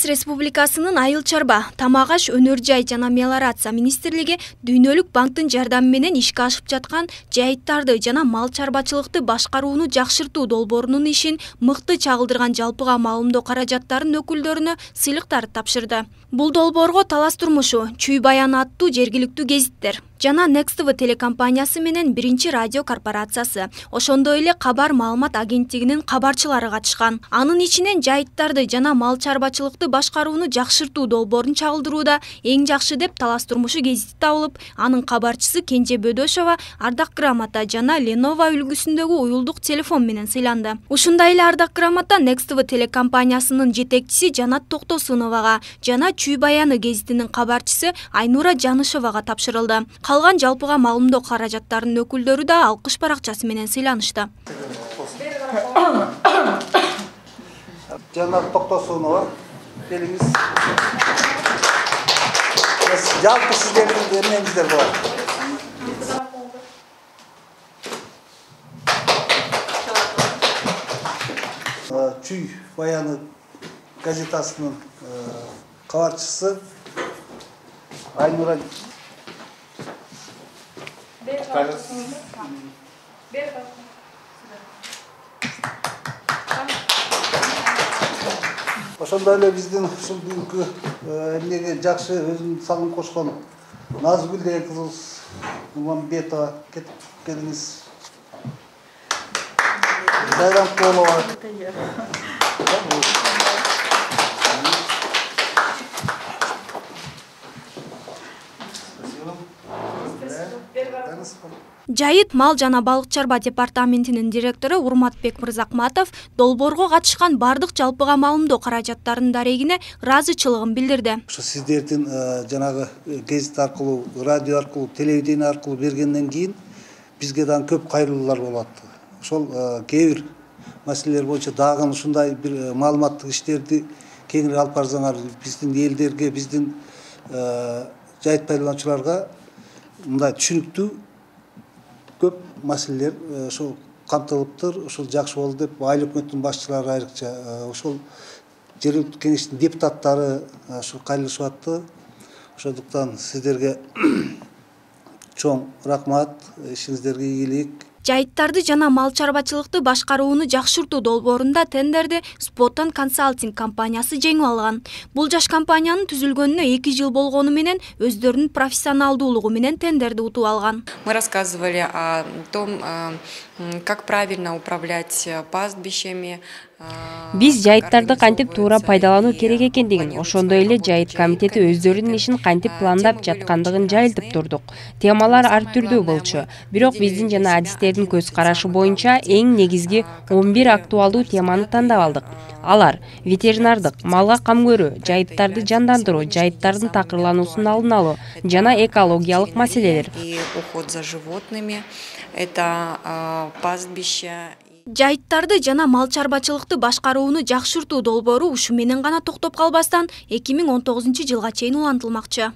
Кыргыз Республикасынын Айыл чарба, тамак аш, өнөр жай жана мелиорация министрлиги Дүйнөлүк банктын жардамы менен ишке ашып жаткан жайыттарды жана мал чарбачылыкты башкарууну жакшыртуу долбоорунун ишин мыкты чагылдырган жалпыга маалымдоо каражаттарынын өкүлдөрүнө сыйлыктар тапшырды. Бул долбоорго Талас турмушу, Чүй баяны аттуу жергиликтүү гезиттер жана Next TV телекомпаниясы менен биринчи радио корпорациясы, ошондой эле Кабар маалымат агенттигинин кабарчылары катышкан. Анын ичинен жайыттарды жана мал чарбачылыкты башкарууну жакшыртуу долбоорун чагылдырууда эң жакшы деп Талас турмушу гезити табылып, анын кабарчысы Кенже Бөдөшова ардак грамота жана Lenovo үлгүсүндөгү уюлдук телефон менен сыйланды. Ушундай эле ардак грамота Next TV телекомпаниясынын жетекчиси Жанат Токтосуновага жана Чүй баяны гезитинин кабарчысы Айнура Жанышевага тапшырылды. Калган жалпыга маалымдоо каражаттарынын өкүлдөрү да алкыш баракчасы менен сыйланышты. Жанат Токтосунова, келиңиз. Жалпы сиздердин эмеңиздер болот. Чүй баяны газетасынын кабарчысы Айнура ошондой эле биздин ушул бүгүнкү эмнеге жакшы өзүнүн салым кошкон Назгүл деген кызыбыз Нурмамбетова, келиңиз. Сайрамкулова. Жайыт мал жана балык чарба департаментинин директору Урматбек Мырзакматов долбоорго катышкан бардык жалпыга маалымдоо каражаттарынын дарегине ыраазычылыгын билдирди. Ошо сиздердин жанагы гезит аркылуу, радио аркылуу, телевидение аркылуу бергенден кийин бизге дагы көп кайрылуулар болот. Ошол кээ бир маселелер боюнча дагы ушундай бир маалыматтык иштерди кеңири алып барсаңар, биздин элдерге, биздин жайыт пайдалануучуларга мындай түшүнүктүү көп маселелер ошол камтылыптыр. Ошол жакшы болду деп айыл өкмөттүн башчылары айрыкча ошол жергиликтүү кеңештин депутаттары ошо кайрылышып атты. Ошондуктан сиздерге чоң рахмат, ишиңиздерге ийгилик. Жайыттарды жана мал чарбачылыкты башкарууну жакшыртуу долбоорунда тендерди Spotton Consulting компаниясы жеңип алган. Бул жаш компаниянын түзүлгөнүнө 2 жыл болгону менен өздөрүнүн профессионалдуулугу менен тендерди утуп алган. Мы рассказывали о том, как правильно управлять пастбищами. Биз жайыттарды кантип туура пайдалануу керек экендигин, ошондой эле жайыт комитети өздөрүнүн ишин кантип пландап жаткандыгын жайылтып турдук. Темалар ар түрдүү болчу. Бирок биздин жана адистердин көз карашы боюнча эң негизги 11 актуалдуу теманы тандап алдык. Алар: ветеринардык, малга кам көрүү, жайыттарды жандандыруу, жайыттардын такырлануусун алдын алуу жана экологиялык маселелер. И уход за животными, это пастбища. Жайыттарды жана мал чарбачылыкты башкарууну жакшыртуу долбоору ушу менен гана токтоп калбастан 2019 жылга чейин улантылмакчы.